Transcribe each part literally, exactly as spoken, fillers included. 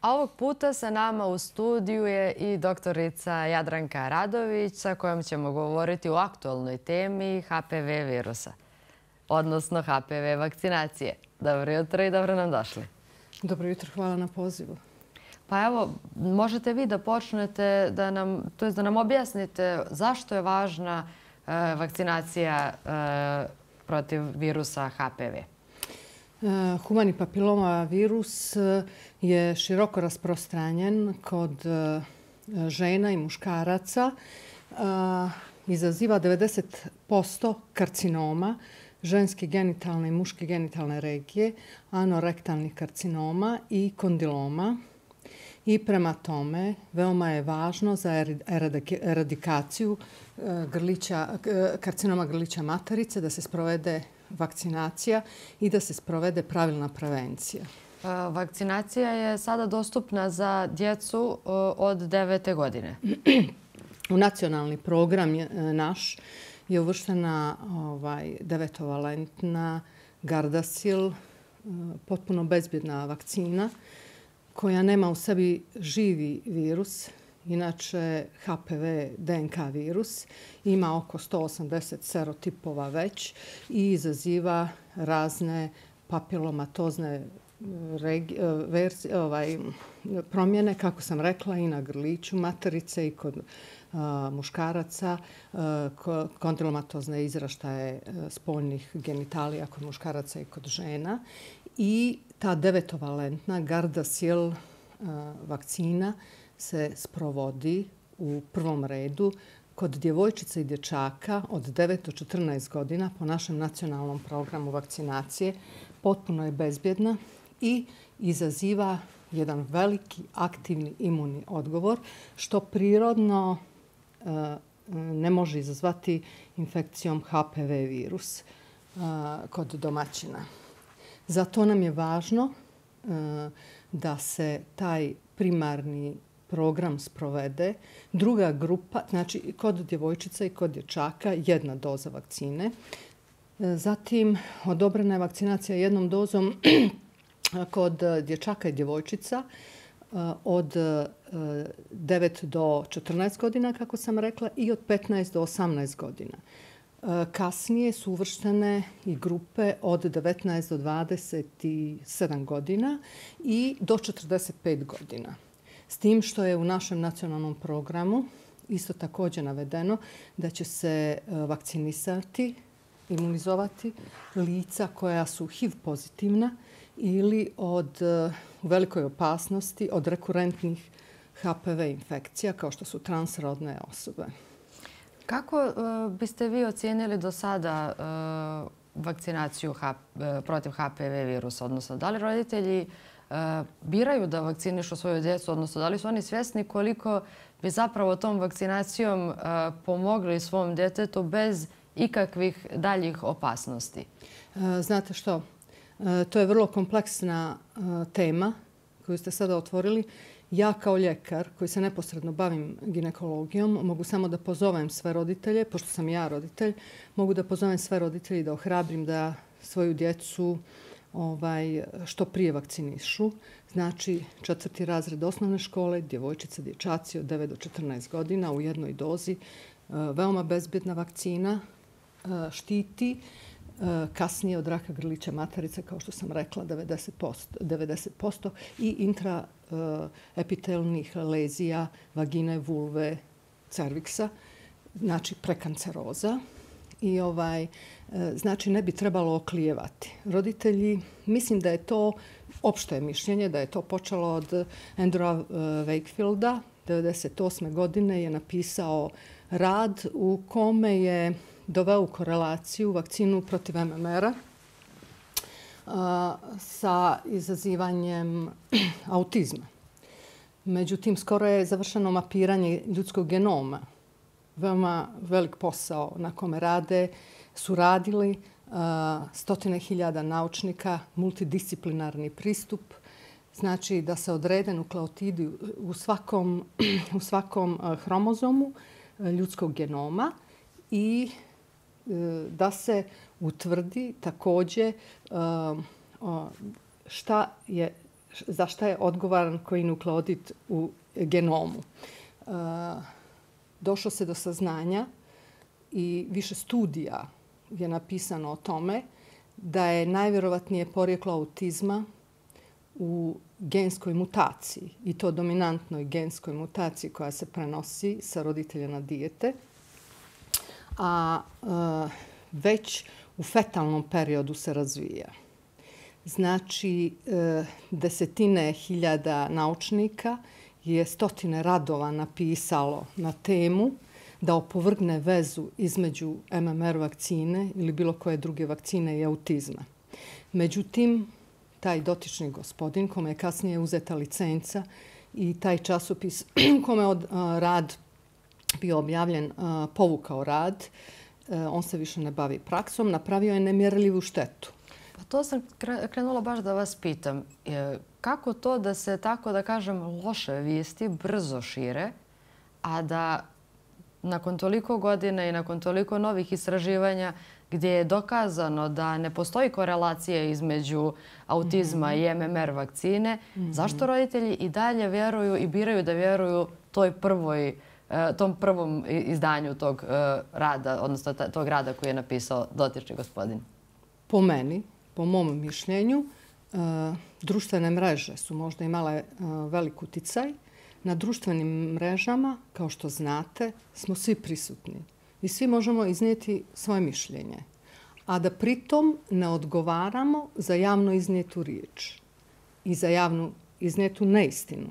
A ovog puta sa nama u studiju je i doktorica Jadranka Radović sa kojom ćemo govoriti o aktualnoj temi H P V virusa, odnosno H P V vakcinacije. Dobro jutro i dobro nam došli. Dobro jutro, hvala na pozivu. Pa evo, možete vi da počnete da nam, to jest da nam objasnite zašto je važna e, vakcinacija e, protiv virusa H P V. Humani papiloma virus je široko rasprostranjen kod žena i muškaraca. Izaziva devedeset posto karcinoma, ženske genitalne i muške genitalne regije, anorektalnih karcinoma i kondiloma. I prema tome, veoma je važno za eradikaciju grlića, karcinoma grlića materice da se sprovede vakcinacija i da se sprovede pravilna prevencija. Vakcinacija je sada dostupna za djecu od devete godine. U nacionalni program naš je uvrštena ovaj, devetovalentna Gardasil, potpuno bezbjedna vakcina koja nema u sebi živi virus. Inače, H P V D N K virus ima oko sto osamdeset serotipova već i izaziva razne papilomatozne ovaj, promjene, kako sam rekla, i na grliću materice i kod a, muškaraca, a, kondilomatozne izraštaje spoljnih genitalija kod muškaraca i kod žena. I ta devetovalentna Gardasil a, vakcina se sprovodi u prvom redu kod djevojčica i dječaka od devet do četrnaest godina po našem nacionalnom programu vakcinacije. Potpuno je bezbjedna i izaziva jedan veliki aktivni imunni odgovor, što prirodno ne može izazvati infekcijom H P V virus kod domaćina. Zato nam je važno da se taj primarni program sprovede. Druga grupa, znači kod djevojčica i kod dječaka, jedna doza vakcine. Zatim odobrena je vakcinacija jednom dozom kod dječaka i djevojčica od devet do četrnaest godina, kako sam rekla, i od petnaest do osamnaest godina. Kasnije su uvrštene i grupe od devetnaest do dvadeset sedam godina i do četrdeset pet godina. S tim što je u našem nacionalnom programu isto također navedeno da će se vakcinisati, imunizovati lica koja su H I V pozitivna ili od, u velikoj opasnosti od rekurentnih H P V infekcija kao što su transrodne osobe. Kako uh, biste vi ocijenili do sada uh, vakcinaciju H, uh, protiv H P V virusa? Odnosno, da li roditelji uh, biraju da vakcinišu svoju djecu? Odnosno, da li su oni svjesni koliko bi zapravo tom vakcinacijom uh, pomogli svom djetetu bez ikakvih daljih opasnosti? Uh, znate što? Uh, to je vrlo kompleksna uh, tema koju ste sada otvorili. Ja kao ljekar koji se neposredno bavim ginekologijom mogu samo da pozovem sve roditelje, pošto sam ja roditelj, mogu da pozovem sve roditelje i da ohrabrim da svoju djecu ovaj, što prije vakcinišu. Znači četvrti razred osnovne škole, djevojčice, dječaci od devet do četrnaest godina u jednoj dozi. Veoma bezbjedna vakcina, štiti kasnije od raka grlića materice, kao što sam rekla, devedeset posto i intraepitelnih lezija vagine, vulve, cerviksa, znači prekanceroza. I ovaj, znači ne bi trebalo oklijevati. Roditelji, mislim da je to opšte mišljenje, da je to počelo od Andrewa Wakefielda. devedeset osme godine je napisao rad u kome je doveo u korelaciju vakcinu protiv M M R-a sa izazivanjem autizma. Međutim, skoro je završeno mapiranje ljudskog genoma. Veoma velik posao na kome rade, su radili uh, stotine hiljada naučnika, multidisciplinarni pristup. Znači da se odrede nukleotidi u svakom, u svakom uh, hromozomu uh, ljudskog genoma i uh, da se utvrdi također uh, uh, šta je za šta je odgovoran koji nukleotid u genomu. Došlo se do saznanja i više studija je napisano o tome da je najvjerovatnije porijeklo autizma u genskoj mutaciji i to dominantnoj genskoj mutaciji koja se prenosi sa roditelja na dijete, a već u fetalnom periodu se razvija. Znači, desetine hiljada naučnika je stotine radova napisalo na temu da opovrgne vezu između M M R vakcine ili bilo koje druge vakcine i autizma. Međutim, taj dotični gospodin, kome je kasnije uzeta licenca i taj časopis kome je rad bio objavljen, povukao rad, on se više ne bavi praksom, napravio je nemjerljivu štetu. Pa to sam krenula baš da vas pitam. Kako to da se, tako da kažem, loše vijesti brzo šire, a da nakon toliko godina i nakon toliko novih istraživanja gdje je dokazano da ne postoji korelacija između autizma i M M R vakcine, zašto roditelji i dalje vjeruju i biraju da vjeruju toj prvoj, tom prvom izdanju tog rada, odnosno tog rada koji je napisao dotični gospodin? Po meni, po mom mišljenju, društvene mreže su možda imale velik uticaj. Na društvenim mrežama, kao što znate, smo svi prisutni i svi možemo iznijeti svoje mišljenje, a da pritom ne odgovaramo za javno iznijetu riječ i za javno iznijetu neistinu.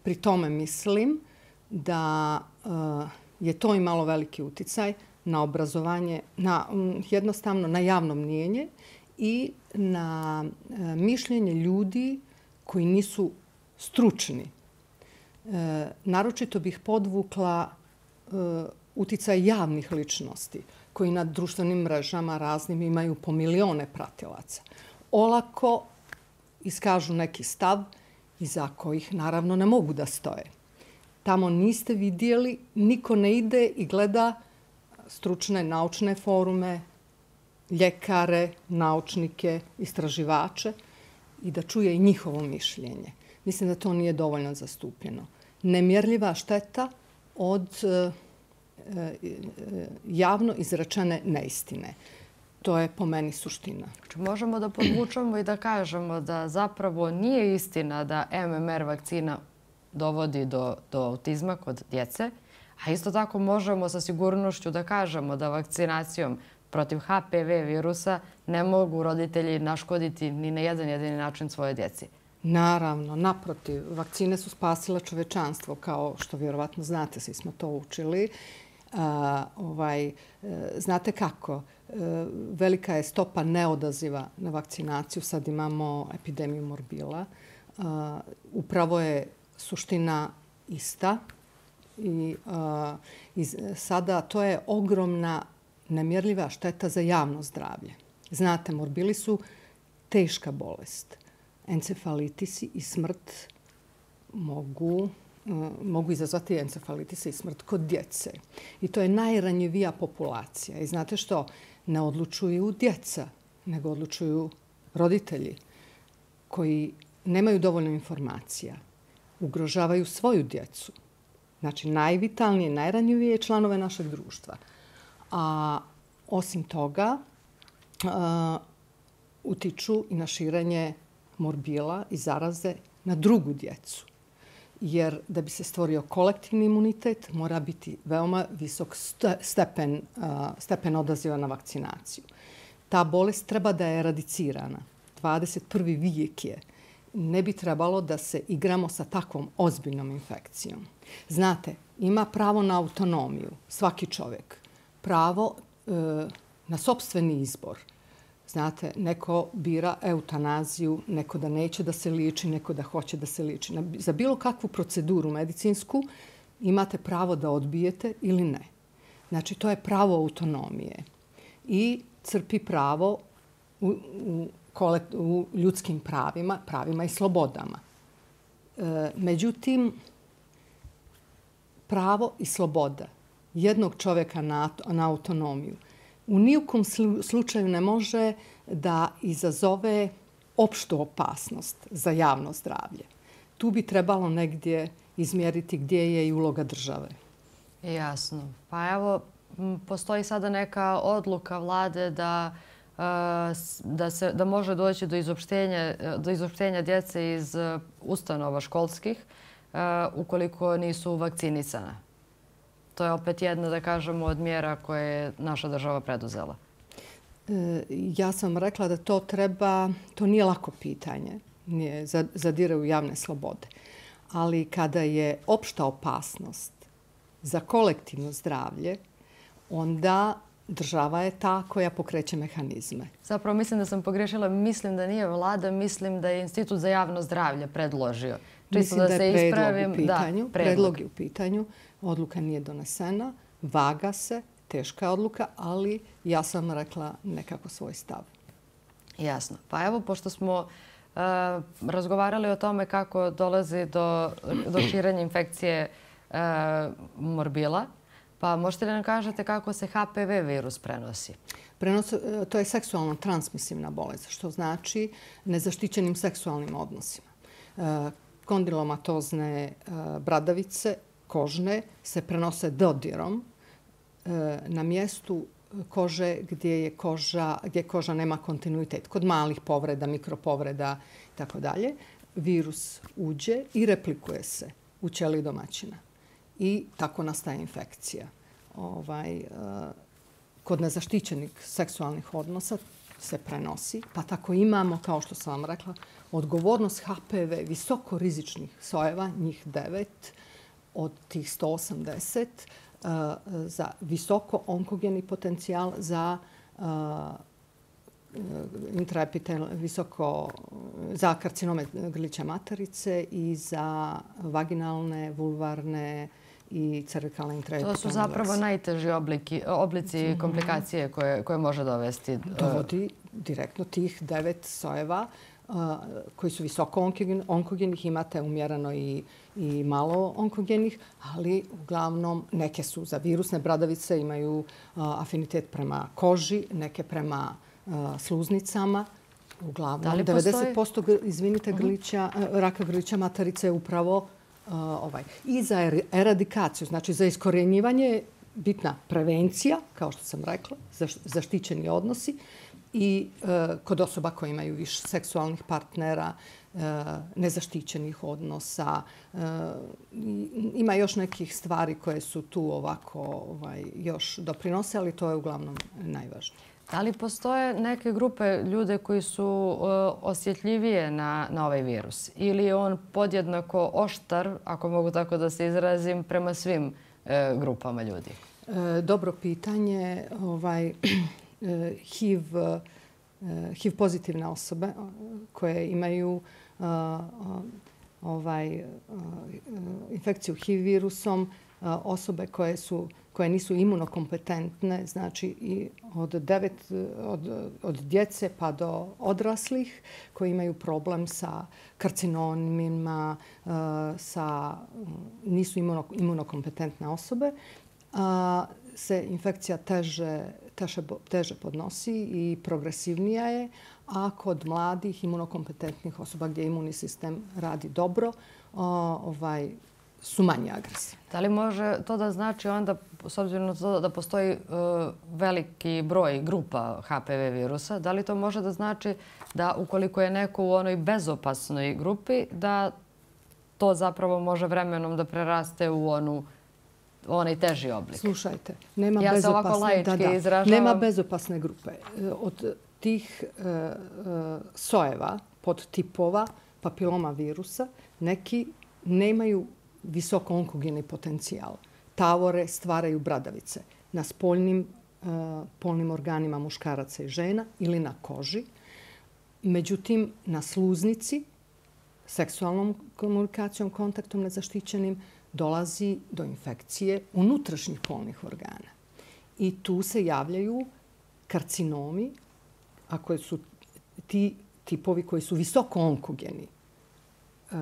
Pri tome mislim da je to imalo veliki uticaj na obrazovanje, na, jednostavno na javno mnijenje i na mišljenje ljudi koji nisu stručni. E, naročito bih podvukla e, uticaj javnih ličnosti koji na društvenim mrežama raznim imaju po milione pratilaca. Olako iskažu neki stav iza kojih naravno ne mogu da stoje. Tamo niste vidjeli, niko ne ide i gleda stručne naučne forume, ljekare, naučnike, istraživače i da čuje i njihovo mišljenje. Mislim da to nije dovoljno zastupljeno. Nemjerljiva šteta od e, e, javno izrečene neistine. To je po meni suština. Možemo da podvučemo i da kažemo da zapravo nije istina da M M R vakcina dovodi do, do autizma kod djece, a isto tako možemo sa sigurnošću da kažemo da vakcinacijom protiv H P V virusa ne mogu roditelji naškoditi ni na jedan jedini način svoje djeci. Naravno, naprotiv, vakcine su spasile čovečanstvo, kao što vjerovatno znate, svi smo to učili. A, ovaj, znate kako? Velika je stopa neodaziva na vakcinaciju. Sad imamo epidemiju morbila. A, upravo je suština ista. I, a, i sada to je ogromna nemjerljiva šteta za javno zdravlje. Znate, morbili su teška bolest. Encefalitisi i smrt mogu, mogu izazvati encefalitise i smrt kod djece. I to je najranjivija populacija. I znate što? Ne odlučuju djeca, nego odlučuju roditelji koji nemaju dovoljno informacija. Ugrožavaju svoju djecu. Znači, najvitalnije, najranjivije članove našeg društva. A osim toga, a, utiču i na širenje morbila i zaraze na drugu djecu. Jer da bi se stvorio kolektivni imunitet, mora biti veoma visok stepen, stepen odaziva na vakcinaciju. Ta bolest treba da je eradicirana. dvadeset prvi vijek je. Ne bi trebalo da se igramo sa takvom ozbiljnom infekcijom. Znate, ima pravo na autonomiju, svaki čovjek. Pravo e, na sopstveni izbor. Znate, neko bira eutanaziju, neko da neće da se liječi, neko da hoće da se liječi. Za bilo kakvu proceduru medicinsku imate pravo da odbijete ili ne. Znači, to je pravo autonomije. I crpi pravo u, u, u ljudskim pravima, pravima i slobodama. E, međutim, pravo i sloboda jednog čovjeka na, na autonomiju u nijukom slučaju ne može da izazove opštu opasnost za javno zdravlje, tu bi trebalo negdje izmjeriti gdje je i uloga države. Jasno. Pa evo, postoji sada neka odluka vlade da, da, se, da može doći do izopštenja, do izopštenja djece iz ustanova školskih ukoliko nisu vakcinisana. To je opet jedna, da kažemo, od mjera koje je naša država preduzela. Ja sam rekla da to treba, to nije lako pitanje, nije, zadire u javne slobode. Ali kada je opšta opasnost za kolektivno zdravlje, onda država je ta koja pokreće mehanizme. Zapravo mislim da sam pogrešila, mislim da nije vlada, mislim da je Institut za javno zdravlje predložio. Mislim da, da je predlog u pitanju. Da, predlog. predlog je u pitanju. Odluka nije donesena, vaga se, teška je odluka, ali ja sam rekla nekako svoj stav. Jasno. Pa evo, pošto smo uh, razgovarali o tome kako dolazi do, do širenja infekcije uh, morbila, pa možete li nam kažete kako se H P V virus prenosi? Prenos, to je seksualno transmisivna bolest, što znači nezaštićenim seksualnim odnosima. Uh, kondilomatozne uh, bradavice, kožne, se prenose dodirom uh, na mjestu kože gdje je koža, gdje koža nema kontinuitet. Kod malih povreda, mikropovreda i tako dalje, virus uđe i replikuje se u ćeliji domaćina. I tako nastaje infekcija. Ovaj, kod nezaštićenih seksualnih odnosa se prenosi, pa tako imamo, kao što sam vam rekla, odgovornost H P V visoko rizičnih sojeva, njih devet od tih sto osamdeset, za visoko onkogeni potencijal za intraepitel, visoko za karcinome grlića materice i za vaginalne, vulvarne i cervikalne intraepitelne. To su zapravo najteži obliki, oblici komplikacije koje, koje može dovesti. Dovodi direktno tih devet sojeva koji su visoko onkogenih, imate umjereno i, i malo onkogenih, ali uglavnom neke su za virusne bradavice, imaju afinitet prema koži, neke prema sluznicama. Uglavnom, devedeset posto izvinite, grlića, raka grlića materice je upravo uh, ovaj. I za eradikaciju, znači za iskorjenjivanje, bitna prevencija, kao što sam rekla, zaštićeni odnosi i uh, kod osoba koje imaju više seksualnih partnera, uh, nezaštićenih odnosa. Uh, ima još nekih stvari koje su tu ovako ovaj, još doprinose, ali to je uglavnom najvažnije. Da li postoje neke grupe ljude koji su uh, osjetljivije na, na ovaj virus? Ili je on podjednako oštar, ako mogu tako da se izrazim, prema svim uh, grupama ljudi? E, dobro pitanje. Ovaj, H I V, H I V pozitivne osobe koje imaju uh, ovaj, uh, infekciju H I V virusom, uh, osobe koje su koje nisu imunokompetentne, znači i od, devet, od, od djece pa do odraslih koji imaju problem sa karcinomima, sa, nisu imuno, imunokompetentne osobe, se infekcija teže, teže, teže podnosi i progresivnija je, a kod mladih imunokompetentnih osoba gdje imunni sistem radi dobro, ovaj, su manje agresivni. Da li može to da znači onda, s obzirom na to da postoji uh, veliki broj grupa H P V virusa, da li to može da znači da ukoliko je neko u onoj bezopasnoj grupi, da to zapravo može vremenom da preraste u onu onaj teži oblik? Slušajte, nema, ja bezopasne, da, da, izražavam... nema bezopasne grupe. Od tih uh, uh, sojeva, podtipova papiloma virusa, neki nemaju visoko onkogeni potencijal. Tavore stvaraju bradavice na spoljnim uh, polnim organima muškaraca i žena ili na koži. Međutim, na sluznici, seksualnom komunikacijom, kontaktom nezaštićenim, dolazi do infekcije unutrašnjih polnih organa. I tu se javljaju karcinomi, a koji su ti tipovi koji su visoko onkogeni. Uh,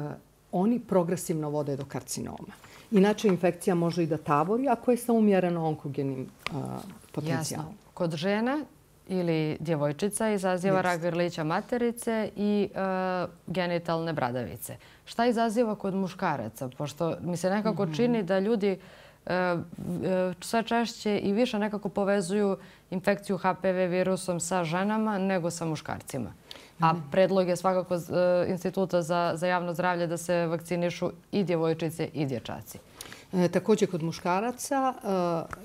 oni progresivno vode do karcinoma. Inače, infekcija može i da tavori ako je sa umjereno onkogenim uh, potencijalom. Jasno. Kod žena ili djevojčica izaziva rak grlića materice i genitalne bradavice. Šta izaziva kod muškaraca? Pošto mi se nekako čini da ljudi sve češće i više nekako povezuju infekciju H P V virusom sa ženama nego sa muškarcima. A predlog je svakako Instituta za javno zdravlje da se vakcinišu i djevojčice i dječaci. Također kod muškaraca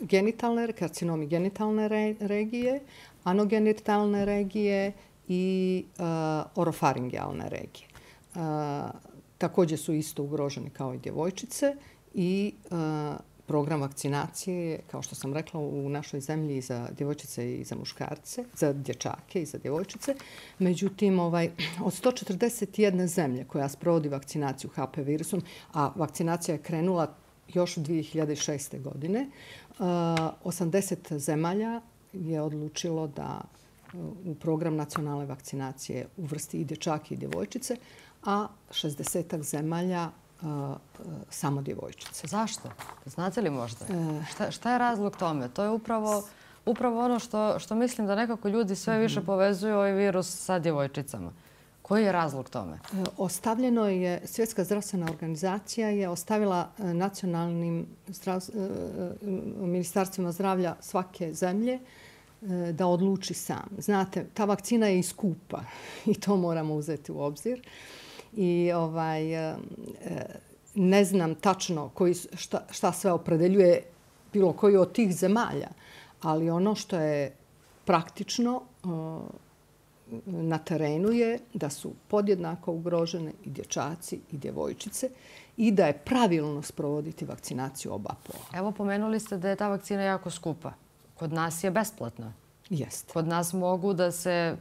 genitalne, karcinomi genitalne regije, anogenitalne regije i orofaringijalne regije. Također su isto ugroženi kao i djevojčice i program vakcinacije je, kao što sam rekla, u našoj zemlji i za djevojčice i za muškarce, za dječake i za djevojčice. Međutim, ovaj, od sto četrdeset jedne zemlje koja sprovodi vakcinaciju H P V virusom, a vakcinacija je krenula još dvije hiljade šeste. godine, osamdeset zemalja je odlučilo da u program nacionalne vakcinacije uvrsti i dječake i djevojčice, a šezdesetak zemalja samo djevojčice. Zašto? Znate li možda? Šta, šta je razlog tome? To je upravo, upravo ono što, što mislim da nekako ljudi sve više povezuju ovaj virus sa djevojčicama. Koji je razlog tome? Ostavljeno je, Svjetska zdravstvena organizacija je ostavila nacionalnim zdrav, ministarstvima zdravlja svake zemlje da odluči sam. Znate, ta vakcina je i skupa i to moramo uzeti u obzir. I ovaj, ne znam tačno koji, šta, šta sve opredeljuje bilo koji od tih zemalja, ali ono što je praktično na terenu je da su podjednako ugrožene i dječaci i djevojčice i da je pravilno sprovoditi vakcinaciju oba pola. Evo, pomenuli ste da je ta vakcina jako skupa. Kod nas je besplatna. Jeste. Kod nas mogu da se,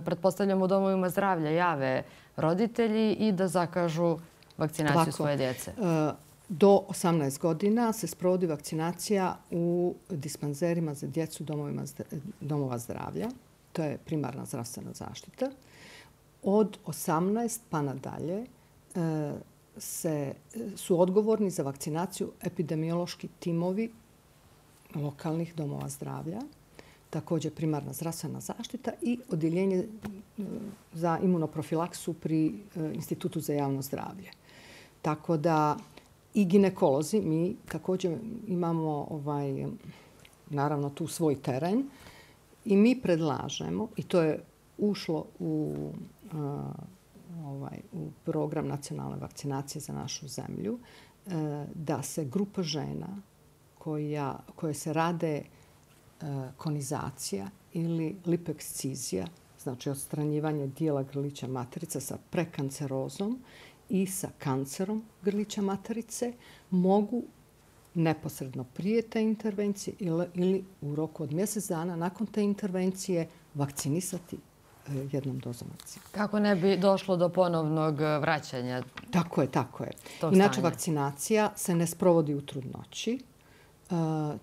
pretpostavljamo u domovima zdravlja, jave roditelji i da zakažu vakcinaciju Lako. svoje djece. Do osamnaest godina se sprovodi vakcinacija u dispanzerima za djecu domovima, domova zdravlja. To je primarna zdravstvena zaštita. Od osamnaest pa nadalje se, su odgovorni za vakcinaciju epidemiološki timovi lokalnih domova zdravlja, također primarna zdravstvena zaštita i odjeljenje za imunoprofilaksu pri Institutu za javno zdravlje. Tako da i ginekolozi, mi također imamo ovaj, naravno tu svoj teren i mi predlažemo, i to je ušlo u, ovaj, u program nacionalne vakcinacije za našu zemlju, da se grupa žena koja, koje se rade konizacija ili lipekscizija, znači odstranjivanje dijela grlića materice sa prekancerozom i sa kancerom grlića materice, mogu neposredno prije te intervencije ili, ili u roku od mjesec dana nakon te intervencije vakcinisati jednom dozom vakcine. Kako ne bi došlo do ponovnog vraćanja? Tako je, tako je. Inače, vakcinacija se ne sprovodi u trudnoći. Uh,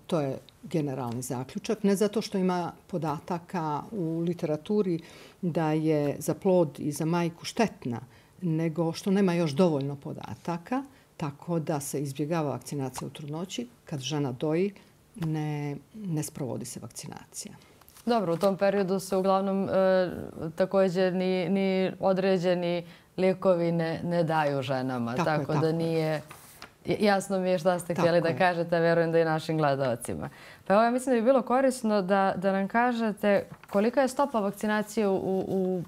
to je generalni zaključak. Ne zato što ima podataka u literaturi da je za plod i za majku štetna, nego što nema još dovoljno podataka, tako da se izbjegava vakcinacija u trudnoći. Kad žena doji, ne, ne sprovodi se vakcinacija. Dobro, u tom periodu se uglavnom e, također ni, ni određeni lijekovi ne, ne daju ženama. Tako, tako, je, tako da nije... Jasno mi je šta ste htjeli da kažete, verujem da i našim gledalcima. Pa evo, ja mislim da bi bilo korisno da, da nam kažete kolika je stopa vakcinacije u, u,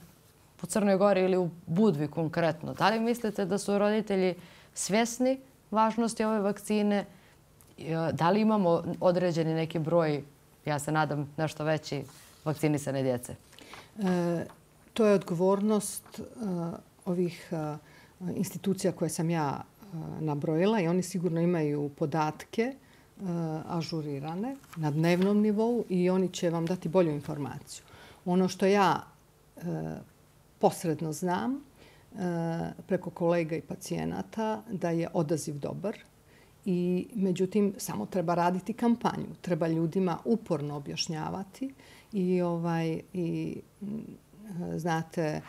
u Crnoj Gori ili u Budvi konkretno. Da li mislite da su roditelji svjesni važnosti ove vakcine? Da li imamo određeni neki broj, ja se nadam nešto veći, vakcinisane djece? E, to je odgovornost uh, ovih uh, institucija koje sam ja nabrojila i oni sigurno imaju podatke uh, ažurirane na dnevnom nivou i oni će vam dati bolju informaciju. Ono što ja uh, posredno znam uh, preko kolega i pacijenata da je odaziv dobar i međutim samo treba raditi kampanju. Treba ljudima uporno objašnjavati i, ovaj, i znate,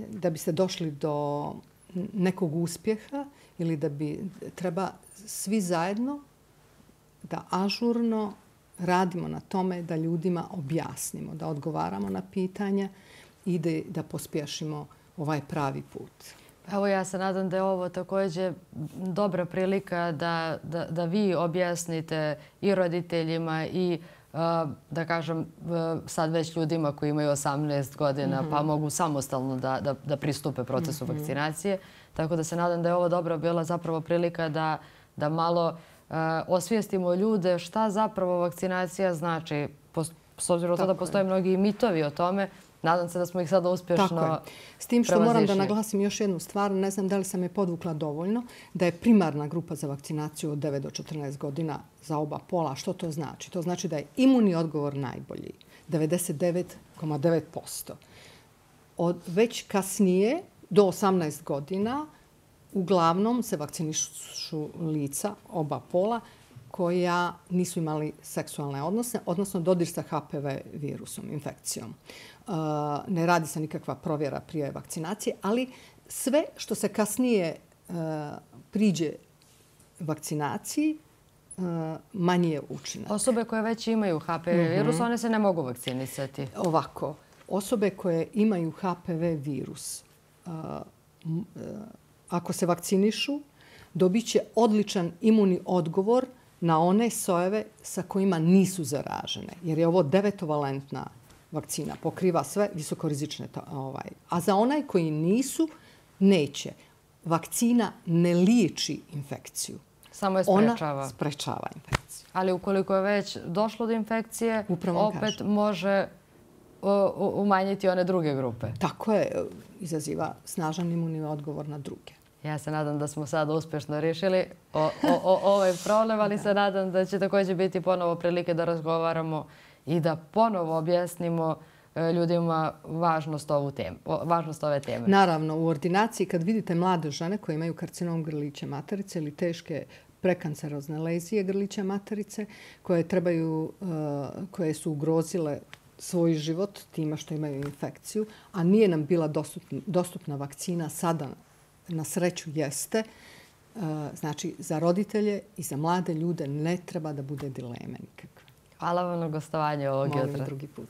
da biste došli do nekog uspjeha ili da bi treba svi zajedno da ažurno radimo na tome da ljudima objasnimo, da odgovaramo na pitanja i da, da pospješimo ovaj pravi put. Evo, ja se nadam da je ovo također dobra prilika da, da, da vi objasnite i roditeljima i da kažem sad već ljudima koji imaju osamnaest godina pa mogu samostalno da, da, da pristupe procesu vakcinacije. Tako da se nadam da je ovo dobro bila zapravo prilika da, da malo uh, osvijestimo ljude šta zapravo vakcinacija znači. S obzirom na to da postoje mnogi mitovi o tome, nadam se da smo ih sada uspješno S tim što moram da naglasim još jednu stvar, ne znam da li sam je podvukla dovoljno, da je primarna grupa za vakcinaciju od devet do četrnaest godina za oba pola. Što to znači? To znači da je imunni odgovor najbolji, devedeset devet zarez devet posto. Od već kasnije, do osamnaest godina, uglavnom se vakcinišu lica oba pola koja nisu imali seksualne odnose, odnosno dodir sa H P V virusom, infekcijom. Ne radi se nikakva provjera prije vakcinacije, ali sve što se kasnije priđe vakcinaciji, manji je učinak. Osobe koje već imaju H P V virus, one se ne mogu vakcinisati. Ovako, osobe koje imaju H P V virus, ako se vakcinišu, dobit će odličan imunni odgovor na one sojeve sa kojima nisu zaražene. Jer je ovo devetovalentna vakcina, pokriva sve visokorizične. Ovaj. A za onaj koji nisu, neće. Vakcina ne liječi infekciju. Samo je sprečava. Ona sprečava infekciju. Ali ukoliko je već došlo do infekcije, Upravo opet kažem. može umanjiti one druge grupe. Tako je, izaziva snažan imunni odgovor na druge. Ja se nadam da smo sada uspješno riješili o, o, o, ovaj problem, ali se nadam da će također biti ponovo prilike da razgovaramo i da ponovo objasnimo ljudima važnost, ovu temu, važnost ove teme. Naravno, u ordinaciji kad vidite mlade žene koje imaju karcinom grlića materice ili teške prekancerozne lezije grlića materice koje, trebaju, koje su ugrozile svoj život time što imaju infekciju, a nije nam bila dostupna, dostupna vakcina, sada na sreću jeste. Znači, za roditelje i za mlade ljude ne treba da bude dileme nikakve. Hvala vam na gostovanje ovog jutra. Molim drugi put.